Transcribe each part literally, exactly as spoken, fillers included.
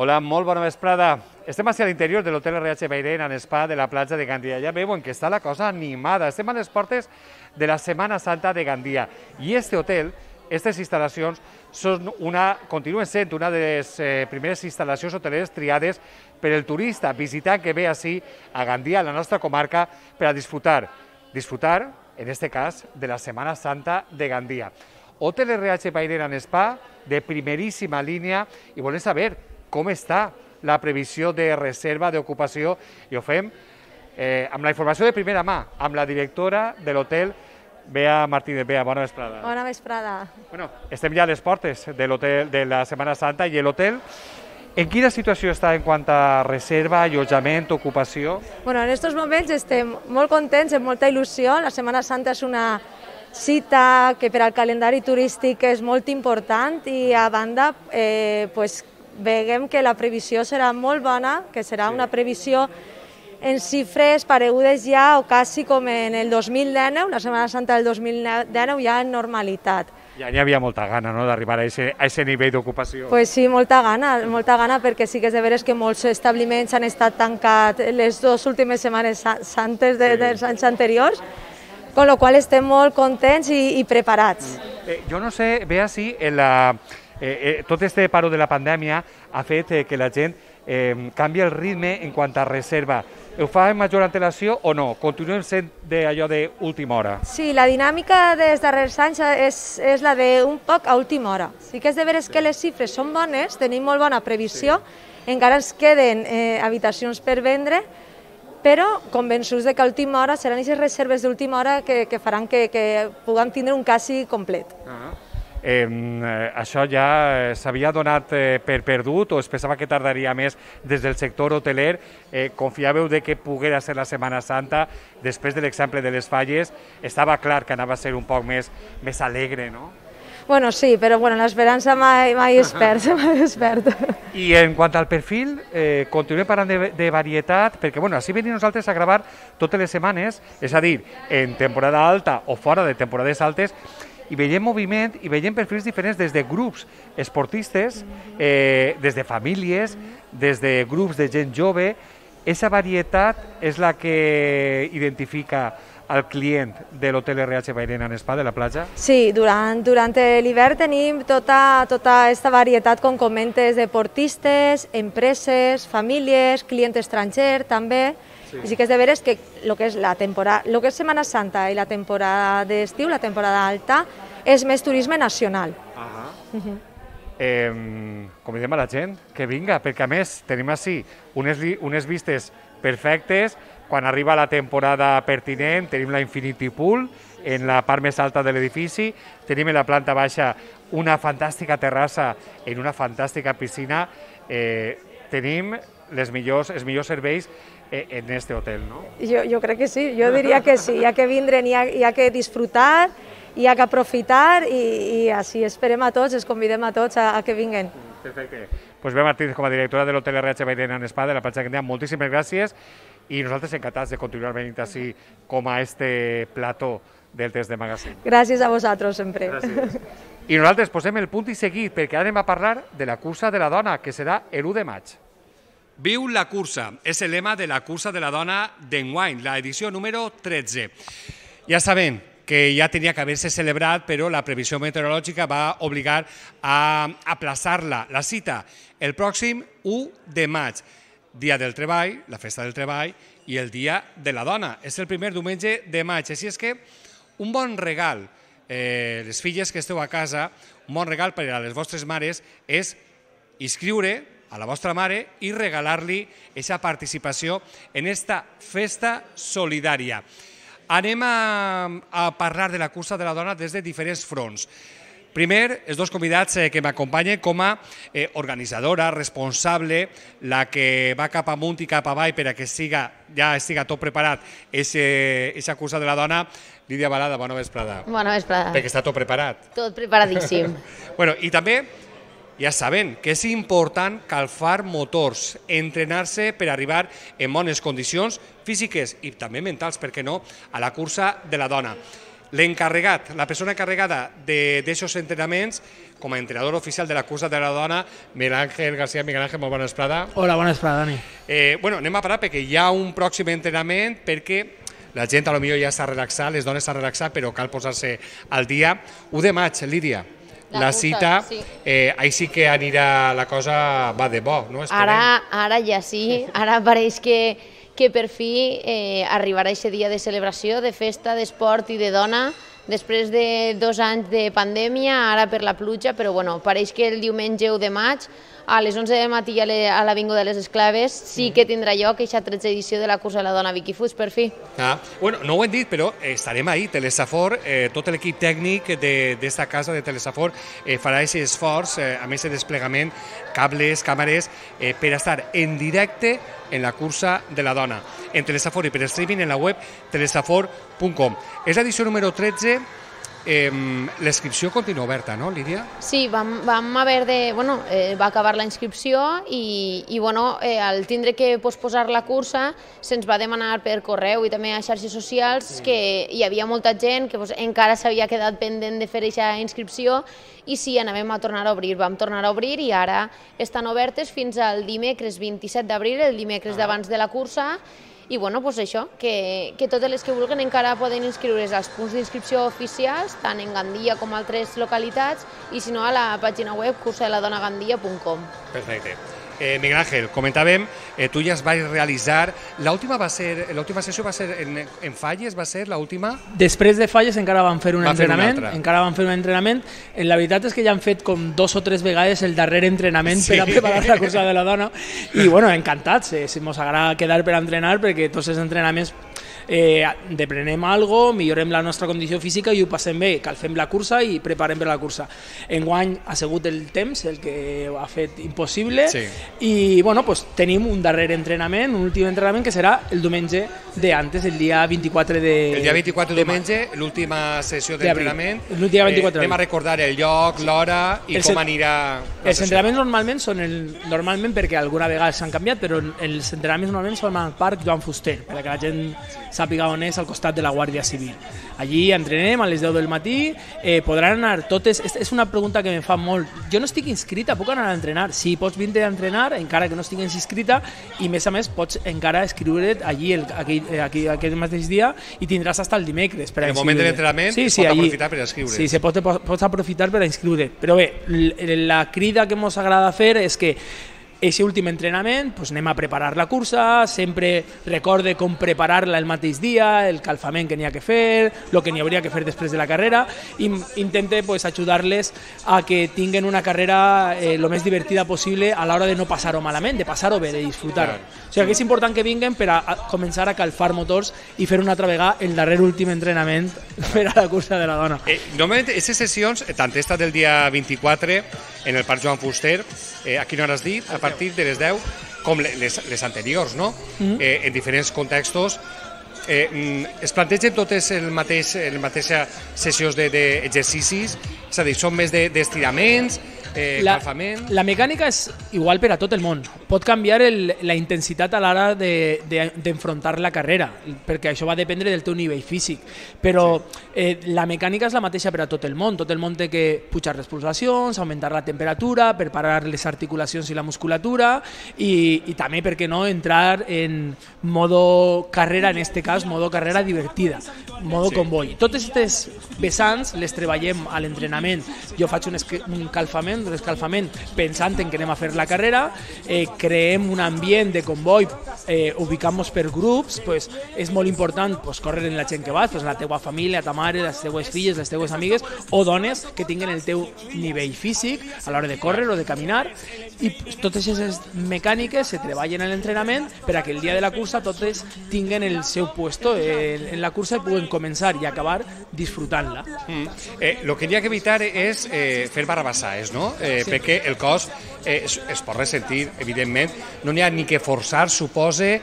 Hola, molt bona vesprada. Estem a l'interior de l'hotel R H Bairén en Spa de la platja de Gandia. Ja veuen que està la cosa animada. Estem a les portes de la Setmana Santa de Gandia. I este hotel, aquestes instal·lacions, són una, continuen sent una de les eh, primeres instal·lacions hoteleres triades per el turista visitant que ve així a Gandia, a la nostra comarca, per a disfrutar. Disfrutar, en este cas, de la Setmana Santa de Gandia. Hotel R H Bairén en Spa, de primeríssima línia, i volem saber com està la previsió de reserva d'ocupació, i ho fem eh, amb la informació de primera mà, amb la directora de l'hotel, Bea Martínez. Bea, bona vesprada. Bona vesprada. Bueno, estem ja a les portes de l'hotel de la Setmana Santa, i l'hotel, en quina situació està en quant a reserva, allotjament, ocupació? Bueno, en aquests moments estem molt contents, amb molta il·lusió. La Setmana Santa és una cita que per al calendari turístic és molt important, i a banda, eh, pues, veiem que la previsió serà molt bona, que serà una previsió en xifres paregudes ja o quasi com en el dos mil dinou, la Setmana Santa del dos mil dinou, ja en normalitat. Ja n'hi havia molta gana, no?, d'arribar a aquest nivell d'ocupació. Pues sí, molta gana, molta gana, perquè sí que és de veres que molts establiments han estat tancats les dues últimes setmanes santes de, dels anys anteriors, con lo qual estem molt contents i, i preparats. Eh, jo no sé, Bea, si en la... Eh, eh, tot este paro de la pandèmia ha fet eh, que la gent eh, canvi el ritme en quant a reserva. Ho fa amb major antelació o no? Continuem sent d'allò d'última hora? Sí, la dinàmica dels darrers anys és, és la d'un poc a última hora. Sí que és de veres que les xifres són bones, tenim molt bona previsió, sí. Encara ens queden eh, habitacions per vendre, però convençuts de que a última hora seran aquestes reserves d'última hora que, que faran que, que puguem tindre un quasi complet. Ah. Eh, això ja eh, s'havia donat eh, per perdut o es pensava que tardaria més des del sector hoteler? Eh, confiàveu de que poguera ser la Setmana Santa? Després de l'exemple de les Falles, estava clar que anava a ser un poc més, més alegre, no? Bueno, sí, però bueno, l'esperança mai, mai es perd, mai es perd. I en quant al perfil, eh, continuem parlant de, de varietat, perquè bueno, així venim nosaltres a gravar totes les setmanes, és a dir, en temporada alta o fora de temporades altes, i veiem moviment i veiem perfils diferents des de grups esportistes, eh, des de famílies, des de grups de gent jove. Aquesta varietat és la que identifica al client de l'hotel R H Bairén en Spa de la platja? Sí, durant, durant l'hivern tenim tota, tota aquesta varietat, com comentes, deportistes, empreses, famílies, client estranger també. Sí. I sí que és de veres que el que és la temporada, el que és Setmana Santa i la temporada d'estiu, la temporada alta, és més turisme nacional. Ah. Uh -huh. eh, convidem a la gent que vinga, perquè a més tenim així unes, unes vistes perfectes. Quan arriba la temporada pertinent tenim la Infinity Pool en la part més alta de l'edifici, tenim en la planta baixa una fantàstica terrassa en una fantàstica piscina, eh, tenim les millors, els millors serveis en este hotel, no? Jo, jo crec que sí, jo diria que sí, hi ha que vindre, hi ha, hi ha que disfrutar, hi ha que aprofitar, i, i així esperem a tots, els convidem a tots a, a que vinguen. Perfecte. Pues Bea Martínez, com a directora de l'hotel R H Bairén en Spa de la platja de Gandia, moltíssimes gràcies, i nosaltres encantats de continuar venint així com a este plató del Test de Magazine. Gràcies a vosaltres, sempre. Gràcies. I nosaltres posem el punt i seguit, perquè ara anem a parlar de la cursa de la dona, que serà l'u de maig. Viu la cursa, és el lema de la cursa de la dona d'enguany, l'edició número tretze. Ja sabem que ja tenia que haver-se celebrat, però la previsió meteorològica va obligar a aplaçar-la, la cita, el pròxim u de maig, dia del treball, la festa del treball i el dia de la dona. És el primer diumenge de maig, així és que un bon regal, eh, les filles que esteu a casa, un bon regal per a les vostres mares és inscriure a la vostra mare i regalar-li aquesta participació en esta festa solidària. Anem a, a parlar de la cursa de la dona des de diferents fronts. Primer, els dos convidats eh, que m'acompanyen com a eh, organitzadora, responsable, la que va cap amunt i cap avall per a que siga, ja estiga tot preparat aquesta cursa de la dona. Lídia Balada, bona vesprada. Bona vesprada. Perquè està tot preparat. Tot preparadíssim. Bueno, i també ja saben que és important calfar motors, entrenar-se per arribar en bones condicions físiques i també mentals, per què no, a la cursa de la dona. l'encarregat, la persona encarregada d'aixòs entrenaments, com a entrenador oficial de la cursa de la dona, Miguel Ángel García. Miguel Ángel, molt bona vesprada. Hola, bona vesprada, Dani. Eh, bueno, anem a parar perquè hi ha un pròxim entrenament, perquè la gent potser ja està relaxada, les dones estan relaxades, però cal posar-se al dia. u de maig, Lídia. La, la cita, sí. eh, ahí sí que anirà la cosa va de bo, no? Ara, ara ja sí, ara pareix que, que per fi eh, arribarà aquest dia de celebració, de festa, d'esport i de dona, després de dos anys de pandèmia, ara per la pluja, però bueno, pareix que el diumenge u de maig, a les onze del matí a l'Avinguda de les Esclaves, sí que tindrà lloc aquesta tretze edició de la cursa de la dona Vicky Fuig, per fi. Ah, bueno, no ho hem dit, però estarem ahí, Telesafor, eh, tot l'equip tècnic d'esta casa de Telesafor eh, farà aquest esforç, eh, amb aquest desplegament, cables, càmeres, eh, per estar en directe en la cursa de la dona, en Telesafor i per streaming en la web telesafor punt com. És l'edició número tretze. Eh, L'inscripció continua oberta, no, Lídia? Sí, vam, vam haver de... Bueno, eh, va acabar la inscripció i, i bueno, eh, al tindre que posposar la cursa se'ns va demanar per correu i també a xarxes socials que hi havia molta gent que pues, encara s'havia quedat pendent de fer aquesta inscripció i sí, anàvem a tornar a obrir. Vam tornar a obrir i ara estan obertes fins al dimecres vint-i-set d'abril, el dimecres d'abans de la cursa. I bueno, doncs això, que, que totes les que vulguin encara poden inscriure's als punts d'inscripció oficials, tant en Gandia com a altres localitats, i si no a la pàgina web cursa de la dona gandia punt com. Perfecte. Eh, Miguel Ángel, comentàvem, eh, tu ja es vas realitzar, l'última va ser, l'última sessió va ser en, en Falles, va ser l'última? Després de Falles encara van fer un van entrenament, fer encara van fer un entrenament. La veritat és que ja han fet com dos o tres vegades el darrer entrenament sí. per a preparar la cursa de la dona i bueno, encantats, eh, si mos agrada quedar per a entrenar perquè tots els entrenaments eh, deprenem algo, millorem la nostra condició física i ho passem bé, calfem la cursa i preparem per la cursa. Enguany ha sigut el temps el que ho ha fet impossible sí. i bueno, pues, tenim un darrer entrenament, un últim entrenament que serà el diumenge de antes, el dia vint-i-quatre de El dia vint-i-quatre de diumenge, l'última sessió d'entrenament. El dia vint-i-quatre. Eh, anem a recordar el lloc, l'hora i el com anirà la Els entrenaments normalment són el, normalment perquè alguna vegada s'han canviat, però els entrenaments normalment són al Parc Joan Fuster, perquè la gent sàpiga on és, al costat de la Guàrdia Civil. Allí entrenem a les deu del matí, eh, podran anar totes... És una pregunta que me fa molt. Jo no estic inscrita, puc anar a entrenar? Sí, pots vindre a entrenar, encara que no estiguis inscrita, i més a més pots encara escriure't allí el, aquell, aquell, aquell mateix dia i tindràs fins el dimecres. Per en el moment de l'entrenament sí, sí, pots allí, aprofitar per inscriure. Sí, se pot, pots aprofitar per inscriure. Però bé, la crida que ens agrada fer és que aquest últim entrenament, doncs anem a preparar la cursa, sempre recorde com preparar-la el mateix dia, el calfament que n'hi ha que fer, el que n'hi hauria que fer després de la carrera, i intente pues, ajudar-les a que tinguen una carrera eh, lo més divertida possible a l'hora de no passar-ho malament, de passar-ho bé, de disfrutar-ho. O sigui que és important que vinguen per a començar a calfar motors i fer una altra vegada el darrer últim entrenament per a la cursa de la dona. Eh, normalment, aquestes sessions, tant esta del dia vint-i-quatre en el Parc Joan Fuster, eh, a quina hora has dit? A partir de les deu, com les, les anteriors, no? Mm-hmm. eh, en diferents contextos, eh, es plantegen totes el mateix, el mateixa sessions d'exercicis, és a dir, són més d'estiraments, eh, la, calfament... La mecànica és igual per a tot el món. Pot canviar el, la intensitat a l'hora d'enfrontar de, de, la carrera, perquè això va dependre del teu nivell físic. Però sí. eh, la mecànica és la mateixa per a tot el món. Tot el món té que pujar les pulsacions, augmentar la temperatura, preparar les articulacions i la musculatura i, i també, per què no, entrar en modo carrera, en este cas, modo carrera divertida, modo sí. comboi. Totes aquestes vessants les treballem a l'entrenament. Jo faig un, un calfament, un escalfament pensant en que anem a fer la carrera, eh, creem un ambient de comboi, eh, ubicam-nos per grups, pues, és molt important pues, córrer en la gent que vas, pues, la teua família, ta mare, les teues filles, les teues amigues o dones que tinguen el teu nivell físic a l'hora de córrer o de caminar, i pues, totes aquestes mecàniques se treballen en l'entrenament per a que el dia de la cursa totes tinguen el seu puesto en, en la cursa i puguen començar i acabar disfrutant-la. Mm. Eh, lo que hi ha que evitar és eh, fer barrabassaes, no? Eh, sí. Perquè el cos eh, es, es pot ressentir, evidentment, no n'hi ha ni que forçar, supose...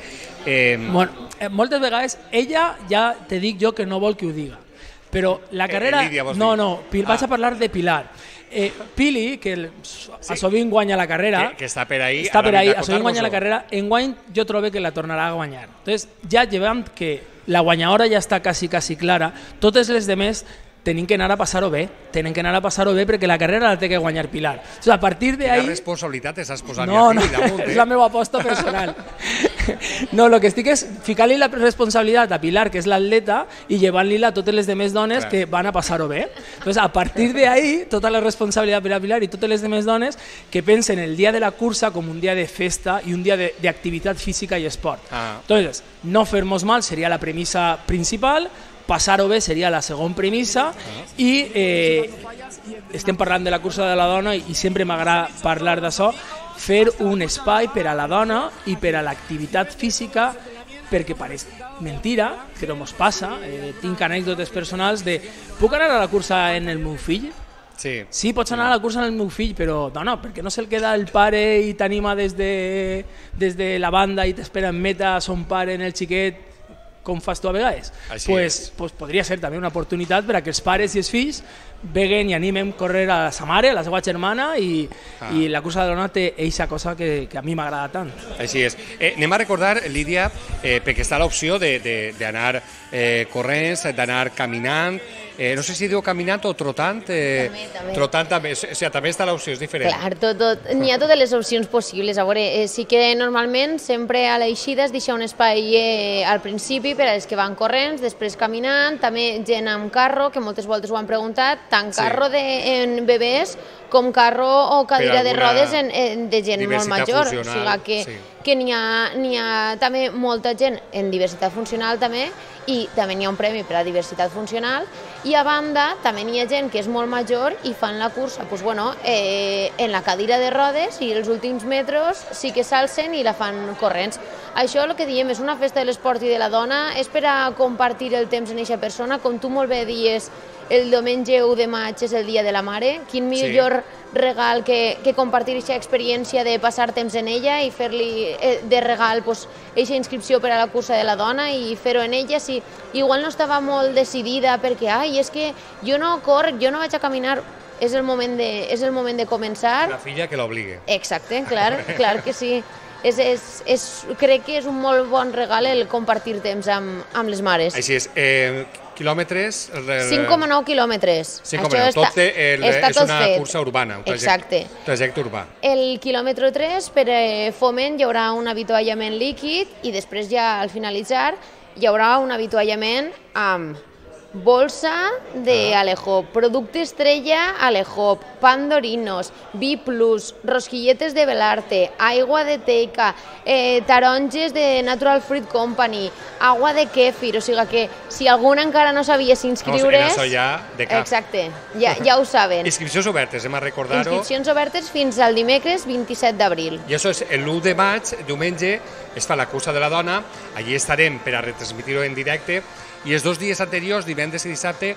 Eh... Bueno, eh, moltes vegades ella ja te dic jo que no vol que ho diga, però la carrera... Eh, Lídia, no, no, Pil, ah. vaig a parlar de Pilar. Eh, Pili, que el, sí. a sovint guanya la carrera, que, que està per ahí, està per ahí, a sovint guanya la carrera, enguany jo trobo que la tornarà a guanyar. Entonces, ja llevant que la guanyadora ja està quasi, quasi clara. Totes les demés tenim que anar a passar-ho bé, tenen que anar a passar-ho bé perquè la carrera la té que guanyar Pilar. O sigui, a partir d'ahí... Quina responsabilitat estàs posant no, aquí no, damunt, eh? És la meva aposta personal. No, el que estic és ficar-li la responsabilitat a Pilar, que és l'atleta, i llevant-li-la a totes les demés dones Clar. que van a passar-ho bé. Entonces, a partir d'ahí, tota la responsabilitat per a Pilar i totes les demés dones que pensen el dia de la cursa com un dia de festa i un dia d'activitat física i esport. Ah. Entonces, no fer-nos mal seria la premissa principal, passar-ho bé seria la segona premissa i eh, estem parlant de la cursa de la dona i sempre m'agrada parlar d'això, fer un espai per a la dona i per a l'activitat física perquè pareix mentira, però mos passa, eh, tinc anècdotes personals de puc anar a la cursa en el meu fill? Sí. Sí, pots anar a la cursa amb el meu fill, però dona, per què no se'l queda el pare i t'anima des de, des de la banda i t'espera en meta son pare en el xiquet com fas tu a vegades? Doncs pues, pues podria ser també una oportunitat per a que els pares i els fills veguen i animem a córrer a sa mare, a la seva germana i, ah. i la cursa de la dona té eixa cosa que, que a mi m'agrada tant. Així és. Eh, anem a recordar, Lídia, eh, perquè està l'opció d'anar eh, corrents, d'anar caminant, eh, no sé si diu caminant o trotant. Eh, també, també. Trotant també, o sigui, també està l'opció, és diferent. Clar, tot, tot, n'hi ha totes les opcions possibles. A veure, eh, sí que normalment sempre a l'eixida es deixa un espai eh, al principi per als que van corrents, després caminant, també gent amb carro, que moltes voltes ho han preguntat, tant carro sí. de, en bebès com carro o cadira de rodes en, en, de gent molt major. O sigui que, sí. que n'hi ha, n'hi ha també molta gent en diversitat funcional també, i també n'hi ha un premi per a diversitat funcional, i a banda també n'hi ha gent que és molt major i fan la cursa pues, bueno, eh, en la cadira de rodes i els últims metres sí que s'alcen i la fan corrents. Això el que diem és una festa de l'esport i de la dona, és per a compartir el temps en aquesta persona, com tu molt bé dies, el diumenge u de maig és el dia de la mare, quin millor sí. regal que, que compartir aquesta experiència de passar temps en ella i fer-li eh, de regal pues, aquesta inscripció per a la cursa de la dona i fer-ho en ella. Si igual no estava molt decidida perquè ai, és que jo no corc, jo no vaig a caminar, és el moment de, és el moment de començar. La filla que l'obligue. Exacte, clar, clar que sí. És, és, és, crec que és un molt bon regal el compartir temps amb, amb les mares. Així és. Eh, quilòmetres? cinc coma nou quilòmetres. cinc coma nou. Tot el, està és tot una fet. cursa urbana, un trajecte, trajecte urbà. El quilòmetre tres, per foment, hi haurà un avituallament líquid i després ja al finalitzar hi haurà un avituallament amb bolsa de ah. Alejop, producte estrella Alejop, Pandorinos, B plus, rosquilletes de Belarte, aigua de Teica, eh, taronges de Natural Fruit Company, agua de Kéfir, o sigui que si algun encara no sabia s'inscriure's... No, ja de cap. Exacte, ja, ja ho saben. Inscripcions obertes, hem a recordar-ho. Inscripcions obertes fins al dimecres vint-i-set d'abril. I això és l'u de maig, diumenge, es fa la cursa de la dona, allí estarem per a retransmitir-ho en directe, i els dos dies anteriors, divendres i dissabte,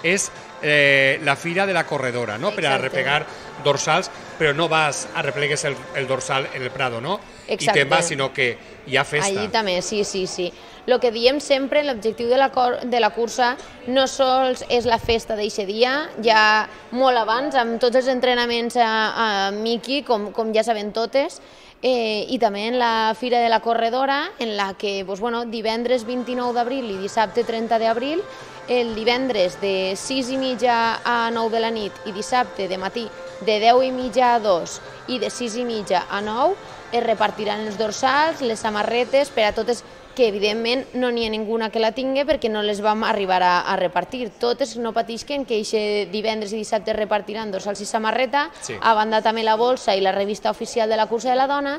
és eh, la fira de la corredora, no? Per a replegar dorsals, però no vas a replegues el, el dorsal en el Prado, no? Exacte. I te'n vas, sinó que hi ha festa. Allí també, sí, sí, sí. El que diem sempre, l'objectiu de, la de la cursa no sols és la festa d'aquest dia, ja molt abans, amb tots els entrenaments a, a Miki, com, com ja saben totes, Eh, i també en la Fira de la Corredora, en la que doncs, bueno, divendres vint-i-nou d'abril i dissabte trenta d'abril, el divendres de sis i mitja a nou de la nit i dissabte de matí de deu i mitja a dos i de sis i mitja a nou es repartiran els dorsals, les samarretes per a totes, que evidentment no n'hi ha ninguna que la tingui perquè no les vam arribar a, a repartir. Totes no patisquen que aquest divendres i dissabte es repartiran dorsals i samarreta, sí. A banda també la bolsa i la revista oficial de la cursa de la dona,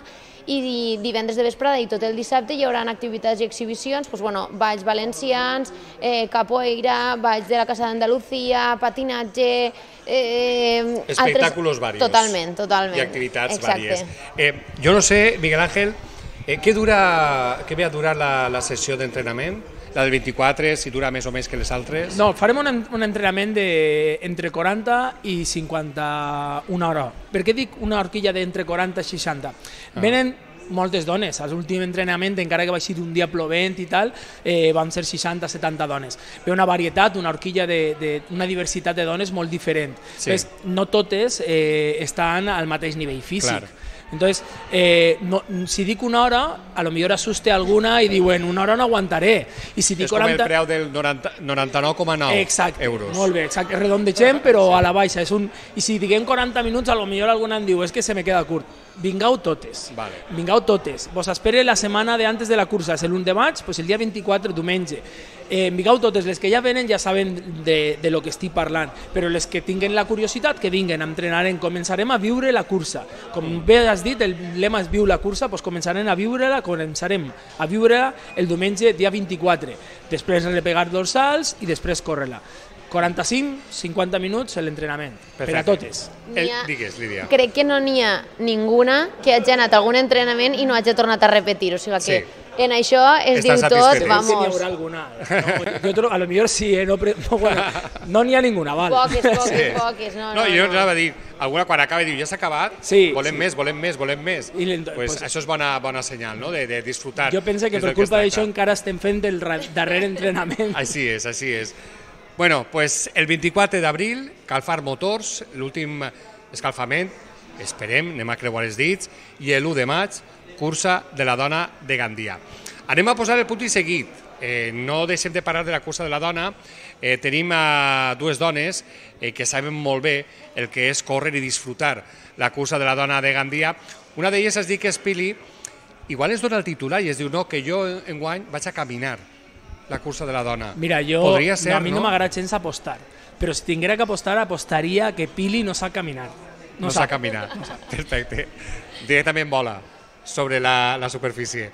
i divendres de vesprada i tot el dissabte hi haurà activitats i exhibicions, doncs, bueno, balls valencians, eh, capoeira, balls de la Casa d'Andalucía, patinatge... Eh, Espectàculos varios. Totalment, totalment. I activitats Exacte. vàries. Eh, jo no sé, Miguel Ángel, Eh, què, dura, què ve a durar la, la sessió d'entrenament? La del vint-i-quatre, si dura més o més que les altres? No, farem un, un entrenament de entre quaranta i cinquanta-una hora. Per què dic una horquilla d'entre quaranta i seixanta? Ah. Venen moltes dones. A l'últim entrenament, encara que va ser un dia plovent i tal, eh, vam ser seixanta setanta dones. Ve una varietat, una horquilla, de, de, una diversitat de dones molt diferent. Sí. Entonces, no totes eh, estan al mateix nivell físic. Clar. Entonces, eh, no, si dic una hora, a lo millor asuste alguna i diuen, una hora no aguantaré. I si dic és quaranta... com el preu del noranta-nou coma nou euros. Molt bé, exacte. Redondegem, però a la baixa. És un... I si diguem quaranta minuts, a lo millor alguna em diu, és que se me queda curt. Vingueu totes. Vale. Vingueu totes. Vos espere la setmana de antes de la cursa, és l'u de maig, pues el dia vint-i-quatre, diumenge. Eh, vingueu totes, les que ja venen ja saben de, de lo que estic parlant, però les que tinguen la curiositat, que vinguen, entrenarem, començarem a viure la cursa. Com bé has dit, el lema és viu la cursa, doncs començarem a viure-la, començarem a viure-la el diumenge dia vint-i-quatre. Després repegar dorsals i després córrer-la. quaranta-cinc a cinquanta minuts l'entrenament, per a totes. El, digues, Lídia. Crec que no n'hi ha ninguna que hagi anat a algun entrenament i no hagi tornat a repetir, o sigui que sí. En això es Estàs diu tot, vamos. Sí, n'hi haurà alguna. No, jo, a lo millor sí, eh? no, no, bueno, no n'hi ha ninguna, val. Poques, poques, sí. poques. No, no, no, jo no. anava a dir, alguna quan acaba diu, ja s'ha acabat, sí, volem sí. més, volem més, volem més. I pues, pues, això és bona, bona senyal, no? de, de disfrutar. Jo penso que per culpa d'això encara estem fent el darrer entrenament. Així és, així és. Bueno, pues el vint-i-quatre d'abril, Calfar Motors, l'últim escalfament, esperem, anem a creuar els dits, i l'u de maig, cursa de la dona de Gandia. Anem a posar el punt i seguit. Eh, no deixem de parlar de la cursa de la dona. Eh, tenim a dues dones eh, que saben molt bé el que és córrer i disfrutar la cursa de la dona de Gandia. Una d'elles es diu que és Pili, igual es dona el titular i es diu no, que jo enguany vaig a caminar la cursa de la dona. Mira, jo, Podria ser, no, a mi no, no m'agrada gens apostar, però si tinguera que apostar, apostaria que Pili no sap caminar. No, no sap caminar, no sap. Perfecte. Directament vola sobre la, la superfície.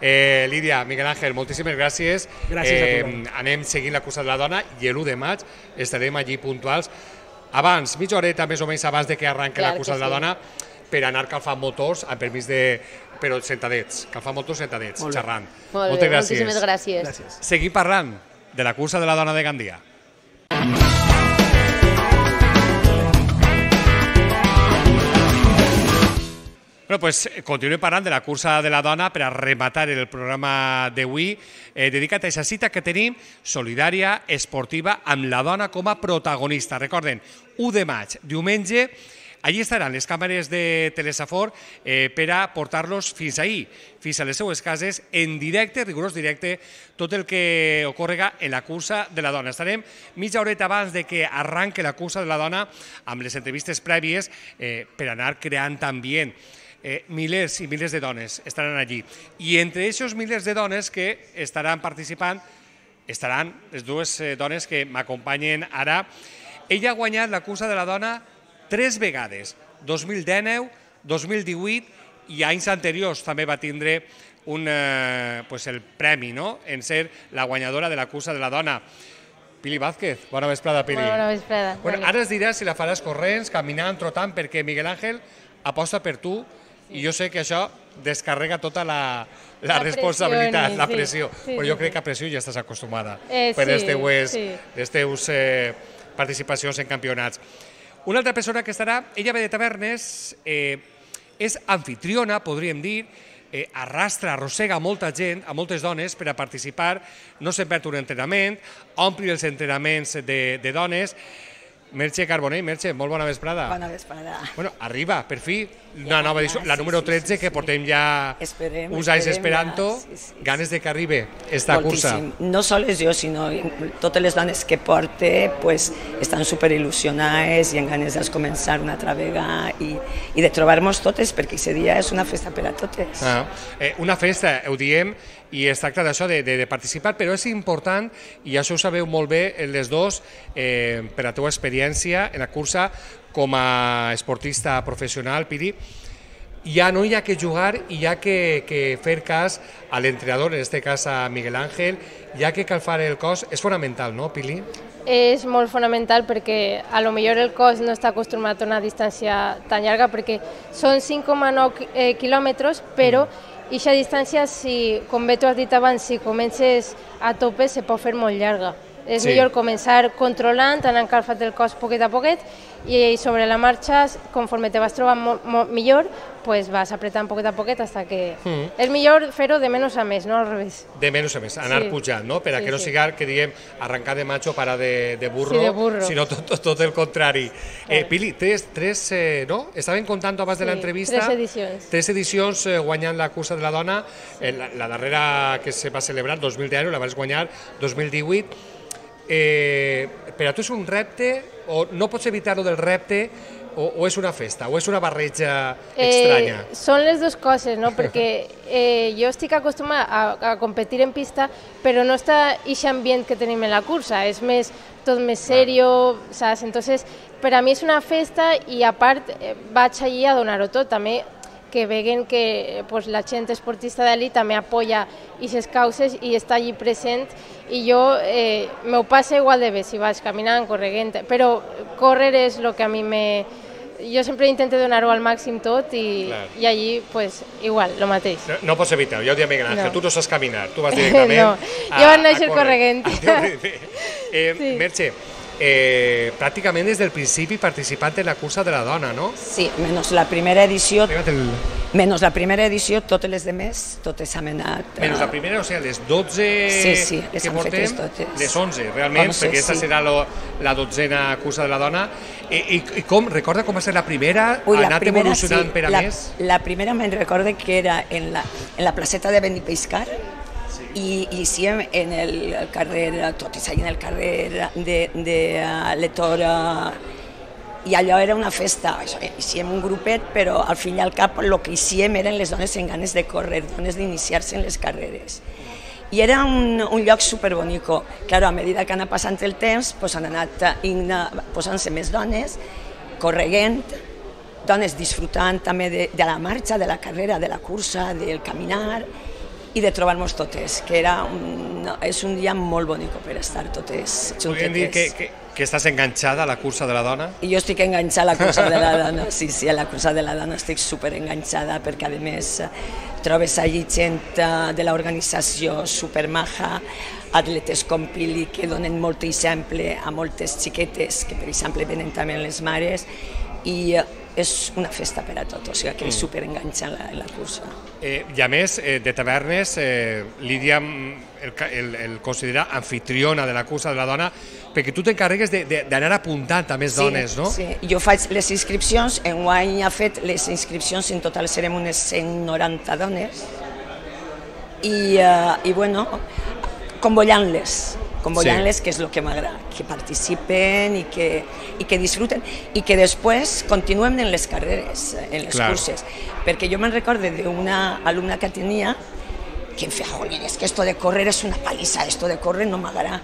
Eh, Lídia, Miguel Ángel, moltíssimes gràcies. Gràcies eh, a tu. Anem seguint la cursa de la dona i l'u de maig estarem allí puntuals. Abans, mitja horeta més o menys abans de que arranqui la cursa de la dona, per anar calfant motors, amb permís de... però sentadets, calfant motors sentadets, xerrant. Molt Moltes bé, gràcies. moltíssimes gràcies. gràcies. Seguim parlant de la cursa de la dona de Gandia. Bueno, pues continuem parlant de la cursa de la dona per a rematar el programa d'avui eh, dedicat a aquesta cita que tenim solidària, esportiva, amb la dona com a protagonista. Recorden, u de maig, diumenge, allí estaran les càmeres de Telesafor eh, per a portar-los fins ahir, fins a les seues cases, en directe, rigorós directe, tot el que ocorrega en la cursa de la dona. Estarem mitja horeta abans de que arranque la cursa de la dona amb les entrevistes prèvies eh, per anar creant ambient. Eh, milers i milers de dones estaran allí. I entre aquests milers de dones que estaran participant estaran les dues eh, dones que m'acompanyen ara. Ella ha guanyat la cursa de la dona tres vegades, dos mil dinou, dos mil divuit i anys anteriors també va tindre un, eh, pues el premi, no?, en ser la guanyadora de la cursa de la dona. Pili Vázquez, bona vesprada, Pili. Bona vesprada. Bueno, ara es diràs si la faràs corrents, caminant, trotant, perquè Miguel Ángel aposta per tu i jo sé que això descarrega tota la, la, la responsabilitat, pressió, la pressió. Sí, sí, Però jo sí, crec que a pressió ja estàs acostumada eh, per sí, les teues, sí. les teus eh, participacions en campionats. Una altra persona que estarà, ella ve de Tavernes, eh, és anfitriona, podríem dir, eh, arrastra, arrossega molta gent, a moltes dones, per a participar, no se'n perd un entrenament, ompli els entrenaments de, de dones. Merche Carbonell, Merche, molt bona vesprada. Bona vesprada. Bueno, arriba, per fi, una nova edició, la número tretze, que portem ja uns anys esperant-ho, ganes de que arribi esta cursa. No sols jo, sinó totes les dones que porte pues, estan superil·lusionades i en ganes de començar una altra vegada i, i de trobar-nos totes, perquè aquest dia és una festa per a totes. Ah, eh, una festa, ho diem, i es tracta d'això, de, de, de participar, però és important, i això ho sabeu molt bé les dos, eh, per la teva experiència en la cursa com a esportista professional, Pili, ja no hi ha que jugar i hi ha que, que fer cas a l'entrenador, en aquest cas a Miguel Ángel, hi ha que calfar el cos, és fonamental, no, Pili? És molt fonamental perquè a lo millor el cos no està acostumat a una distància tan llarga perquè són cinc coma nou quilòmetres, però aquesta distància, si, com bé tu has dit abans, si comences a tope se pot fer molt llarga. És Sí. millor començar controlant, anant calfat el cos poquet a poquet y sobre la marcha, conforme te vas trobant molt, molt millor, pues vas apretant poquet a poquet hasta que... Mm. És millor fer-ho de menys a més, no al revés. De menys a més, anar sí. pujant, no? Per a sí, que no sí. siga, que diguem, arrencar de macho para de, de burro, sí, de burro, sinó tot, tot, tot el contrari. Claro. Eh, Pili, tres, tres eh, no? Estaven contant abans sí, de l'entrevista... Tres edicions. Tres edicions eh, guanyant la cursa de la dona, eh, la, la darrera que se va celebrar, dos mil deu, la vas guanyar dos mil divuit. Eh, per a tu és un repte, o no pots evitar-ho del repte, O, o és una festa, o és una barreja estranya? Eh, són les dues coses, no? Perquè eh, jo estic acostumada a, a competir en pista, però no està aquest ambient que tenim en la cursa, és més, tot més serio, saps? Entonces, per a mi és una festa i a part eh, vaig allí a donar-ho tot, també que veguen que pues, la gent esportista d'elit també apoya aquestes causes i està allí present i jo eh, m'ho passo igual de bé si vaig caminant, corregent, però córrer és el que a mi me... Jo sempre intento donar-ho al màxim tot i, i allí, pues, igual, el mateix. No, no pots evitar, ja ho diem, Miguel Ángel, no. Tu no saps caminar, tu vas directament no. a, jo vaig néixer corregent. eh, sí. Merche, eh, pràcticament des del principi participant en la cursa de la dona, no? Sí, menys la primera edició... El... Menys la primera edició, totes les demés, totes han anat... Menys la primera, o sigui, les dotze sí, sí, les que han portem, fetes totes. Les onze, realment, onze, perquè aquesta sí. serà lo, la dotzena cursa de la dona. I, i, i com, recorda com va ser la primera? Ui, ha la anat primera, evolucionant sí, per a la, més? La primera me'n recorde que era en la, en la placeta de Benipeiscar, i hiciem en el carrer, tot és allà en el carrer de, de uh, l'Etora, i allò era una festa, hiciem un grupet, però al fin i al cap el que hiciem eren les dones en ganes de córrer, dones d'iniciar-se en les carreres. I era un, un lloc superbonico. Claro, a medida que anava passant el temps, pues, han anat posant-se més dones, correguent, dones disfrutant també de, de la marxa, de la carrera, de la cursa, del caminar, i de trobar-nos totes, que era un, és un dia molt bonic per estar totes juntetes. Podríem dir que, que, que estàs enganxada a la cursa de la dona? I jo estic enganxada a la cursa de la dona, sí, sí, a la cursa de la dona estic super enganxada perquè a més trobes allí gent de l'organització supermaja, atletes com Pili que donen molt exemple a moltes xiquetes que per exemple venen també les mares i és una festa per a tot, o sigui que és superenganxa en la, en la cursa. Eh, I a més, eh, de tavernes, eh, Lídia el, el, el considera anfitriona de la cursa de la dona, perquè tu t'encarregues d'anar apuntant a més sí, dones, no? Sí, jo faig les inscripcions, enguany ha fet les inscripcions, en total serem unes cent noranta dones, i, uh, i bueno, convollant-les, convollant-les, sí. Que és el que m'agrada, que participen i que, i que disfruten i que després continuem en les carreres, en les Clar. curses. Perquè jo me'n recordo d'una alumna que tenia que em feia, jolín, és que esto de correr és una paliza, esto de correr no m'agrada.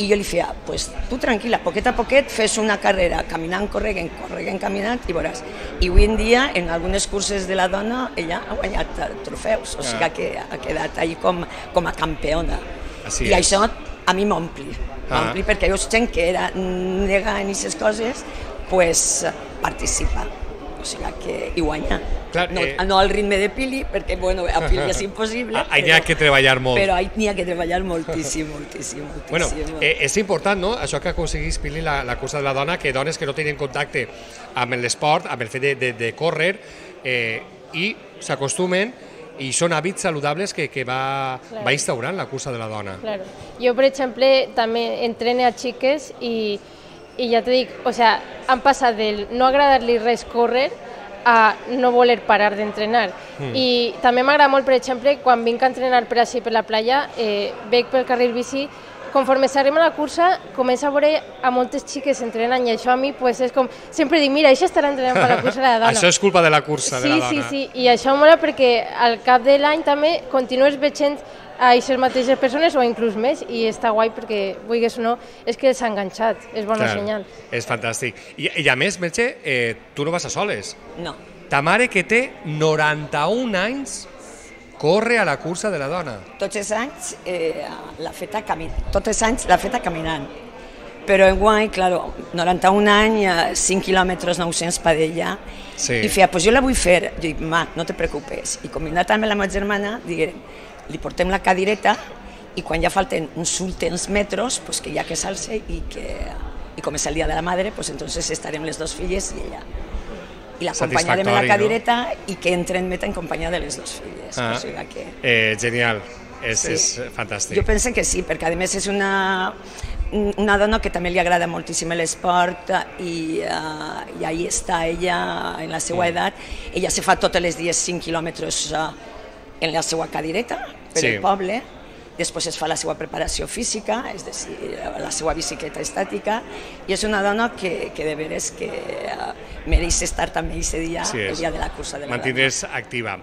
I jo li feia, pues tu tranquil·la, poquet a poquet fes una carrera, caminant, corregant, corregant, caminant, i veuràs. I avui en dia, en algunes curses de la dona, ella ha guanyat trofeus, o sigui que ha quedat ahí com, com a campeona. Així I és. això a mi m'ompli, m'ompli ah. perquè jo gent que era nega en aquestes coses, pues participa, o sigui que hi guanya. Clar, no, eh... no al ritme de Pili, perquè bueno, a Pili és impossible. Ahí n'hi ha que treballar molt. Però n'hi ha que treballar moltíssim, moltíssim, moltíssim. Bueno, eh, és important, no?, això que aconseguís Pili la, la cursa de la dona, que dones que no tenen contacte amb l'esport, amb el fet de, de, de córrer, eh, i s'acostumen i són hàbits saludables que, que va, claro. va instaurant la cursa de la dona. Claro. Jo, per exemple, també entrene a xiques i, i ja t'ho dic, o sea, han passat del no agradar-li res córrer a no voler parar d'entrenar. Mm. I també m'agrada molt, per exemple, quan vinc a entrenar per així per la playa, eh, veig pel carril bici, conforme s'arriba a la cursa, comença a veure a moltes xiques entrenant i això a mi pues, és com, sempre dic, mira, això estarà entrenant per la cursa de la dona. Això és culpa de la cursa sí, de la dona. Sí, sí, sí, i això mola perquè al cap de l'any també continues veient a aquestes mateixes persones o inclús més i està guai perquè, vulguis o no, és que s'ha enganxat, és bona Clar, senyal. És fantàstic. I, i a més, Merche, eh, tu no vas a soles. No. Ta mare que té noranta-un anys corre a la cursa de la dona. Tots els anys eh, l'ha feta caminant, tots els anys l'ha feta caminant. Però enguany, claro, noranta-un anys, cinc quilòmetres nou-cents per ella, sí. I feia, pues jo la vull fer. Jo dic, ma, no te preocupes. I combinat amb la meva germana, diguem, li portem la cadireta i quan ja falten uns últims metres, pues que ja que s'alce i que, i com és el dia de la madre, pues entonces estarem les dos filles i ella. I l'acompanyarem en la cadireta no? I que entre en meta en companyia de les dues filles. Ah, o sigui que... eh, genial, és, sí. és fantàstic. Jo penso que sí, perquè a més és una, una dona que també li agrada moltíssim l'esport i, uh, i ahí està ella en la seva edat. Ella se fa tots els dies cinc quilòmetres uh, en la seva cadireta per sí. el poble. Després es fa la seva preparació física, és a dir, la seva bicicleta estàtica, i és una dona que, que de veres que uh, mereix estar també aquest dia, sí, el dia de la cursa de la Mantindre's dona. Activa.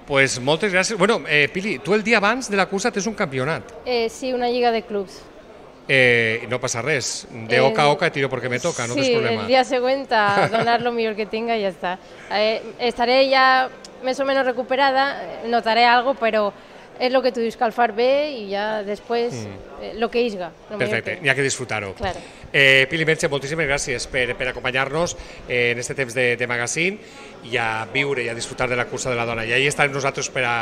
Pues moltes gràcies. Bueno, eh, Pili, tu el dia abans de la cursa tens un campionat. Eh, sí, una lliga de clubs. Eh, no passa res, de oca a oca tiro porque me toca, sí, no tens problema. Sí, el día següent a donar lo millor que tenga y ya está. Eh, estaré ya más o menos recuperada, notaré algo, pero es lo que tú dices, calfar bé y ya después mm. eh, lo que isga. Lo Perfecte, n'hi ha que disfrutar-ho. Claro. Eh, Pili Merche, moltíssimes gràcies per, per acompanyar-nos eh, en aquest temps de, de magazine i a viure i a disfrutar de la cursa de la dona. I ahí estarem nosaltres per a,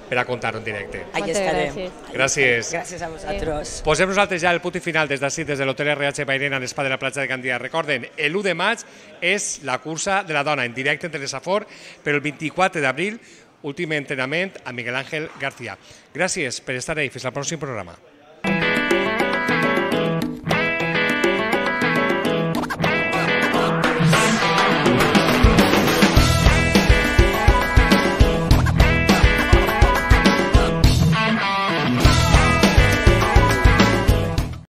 per a contar-ho en directe. Ahí estarem. Gràcies. Gràcies. Gràcies a vosaltres. Eh. Posem nosaltres ja el punt i final des d'ací, des de l'Hotel R H Bairena, en l'Espa de la platja de Gandia. Recorden, l'u de maig és la cursa de la dona en directe en Telesafor, però el vint-i-quatre d'abril últim entrenament a Miguel Ángel García. Gràcies per estar ahí. Fins al pròxim programa.